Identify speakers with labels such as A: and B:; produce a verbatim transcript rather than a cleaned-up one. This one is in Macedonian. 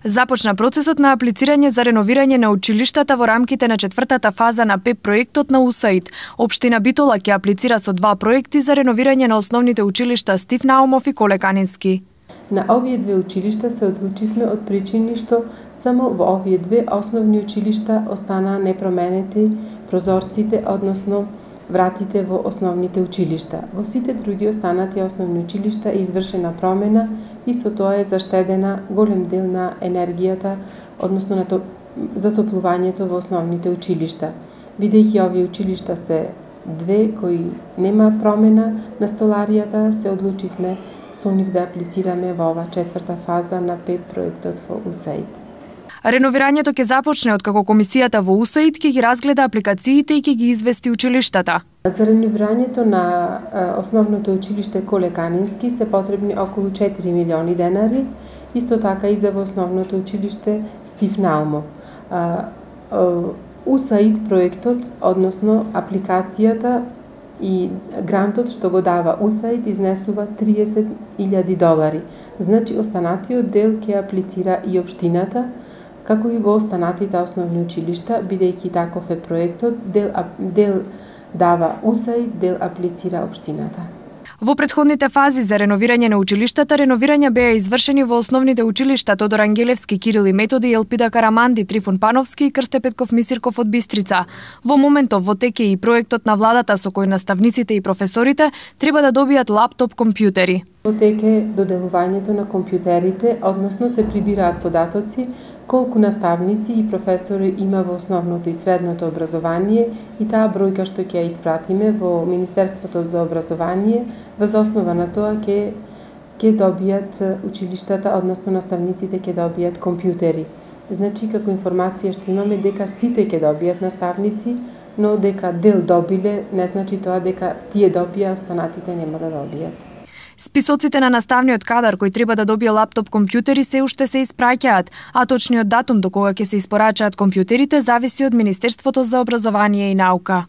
A: Започна процесот на аплицирање за реновирање на училиштата во рамките на четвртата фаза на ПЕП проектот на УСАИД. Општина Битола ќе аплицира со два проекти за реновирање на основните училишта Стив Наумов и Коле Канински.
B: На овие две училишта се одлучивме од причини што само во овие две основни училишта останаа непроменети прозорците, односно вратите во основните училишта. Во сите други останати основни училишта е извршена промена и со тоа е заштедена голем дел на енергијата, односно на то, затоплувањето во основните училишта. Бидејќи овие училишта се две кои нема промена на столаријата, се одлучивме со нив да аплицираме во ова четврта фаза на ПЕП проектот во УСАИД.
A: Реновирањето ќе започне откако комисијата во УСАИД ќе ги разгледа апликациите и ќе ги извести училиштата.
B: За реновирањето на основното училиште Коле Канински се потребни околу четири милиони денари, исто така и за во основното училиште Стив Наумов. УСАИД проектот, односно апликацијата и грантот што го дава УСАИД изнесува триесет илјади долари. Значи останатиот дел ќе аплицира и општината, како и во останатите основни училишта, бидејќи таков е проектот, дел, дел дава УСАИД, дел аплицира општината.
A: Во претходните фази за реновирање на училиштата, реновирања беа извршени во основните училишта Тодор Ангелевски, Кирил и Методи, Елпида Караманди, Трифон Пановски и Крсте Петков Мисирков од Бистрица. Во моментов во теке и проектот на владата со кој наставниците и професорите треба да добијат лаптоп компјутери.
B: Во теке доделувањето на компјутерите, односно се прибираат податоци колку наставници и професори има во основното и средното образование и таа бројка што ќе ја испратиме во Министерството за образование, врз основа на тоа ќе ќе добијат училиштата, односно наставниците ќе добијат компјутери. Значи, како информација што имаме дека сите ќе добијат наставници, но дека дел добиле не значи тоа дека тие добија, останатите нема да добијат.
A: Списоците на наставниот кадар кој треба да добие лаптоп компјутери се уште се испраќаат, а точниот датум до кога ќе се испорачаат компјутерите зависи од Министерството за образование и наука.